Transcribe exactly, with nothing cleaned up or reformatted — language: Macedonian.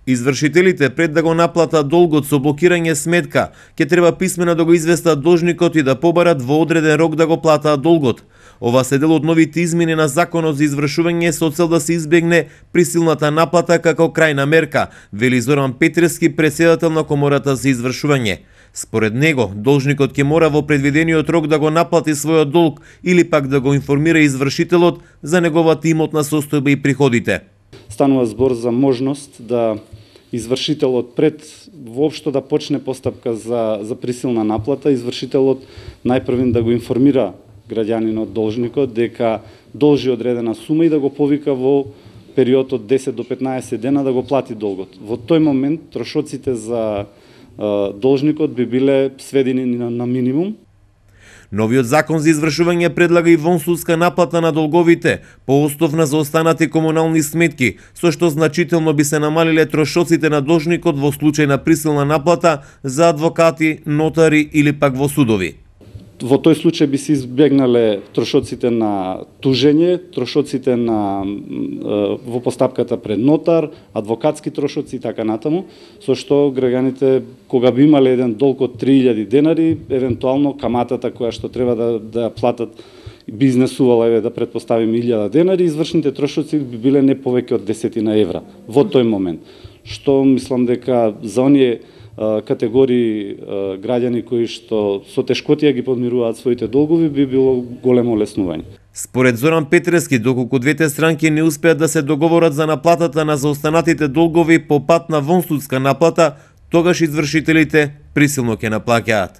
Извршителите пред да го наплатат долгот со блокирање сметка, ќе треба писмено да го известат должникот и да побарат во одреден рок да го платаат долгот. Ова се дел од новите измени на Законот за извршување со цел да се избегне присилната наплата како крајна мерка, вели Зоран Петрески, претседател на Комората за извршување. Според него, должникот ќе мора во предвидениот рок да го наплати својот долг или пак да го информира извршителот за неговата имотна состојба и приходите. Станува збор за можност да извршителот пред воопшто да почне постапка за, за присилна наплата, извршителот најпрвен да го информира граѓанинот, должникот, дека должи одредена сума и да го повика во период од десет до петнаесет дена да го плати долгот. Во тој момент трошоците за е, должникот би биле сведени на, на минимум. Новиот закон за извршување предлага и вонсудска наплата на долговите по основ на заостанати комунални сметки, со што значително би се намалиле трошоците на должникот во случај на присилна наплата за адвокати, нотари или пак во судови. Во тој случај би се избегнале трошоците на тужење, трошоците на во постапката пред нотар, адвокатски трошоци и така натаму, со што граѓаните кога би имале еден долг од три илјади денари, евентуално каматата која што треба да да платат би изнесувала, еве да претпоставиме илјада денари, извршните трошоци би биле не повеќе од десетина евра во тој момент. Што мислам дека за оние категории граѓани кои што со тешкотија ги подмируваат своите долгови би било големо олеснување. Според Зоран Петрески, доколку двете странки не успеат да се договорат за наплатата на заостанатите долгови по пат на вонсудска наплата, тогаш извршителите присилно ќе наплаќаат.